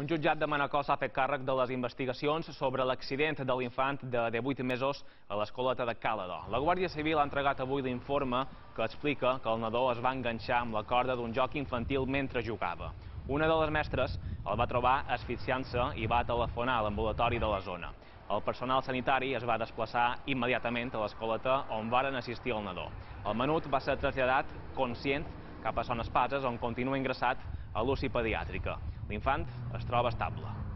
Un jutjat de Manacor s'ha fet càrrec de les investigacions sobre l'accident de l'infant de 8 mesos a l'escoleta de Càlado. La Guàrdia Civil ha entregat avui l'informe que explica que el nadó es va enganxar amb la corda d'un joc infantil mentre jugava. Una de les mestres el va trobar asfixiant-se i va telefonar a l'ambulatori de la zona. El personal sanitari es va desplaçar immediatament a l'escoleta on varen assistir el nadó. El menut va ser traslladat conscient cap a Son Espases, on continua ingressat a l'UCI pediàtrica. L'infant es troba estable.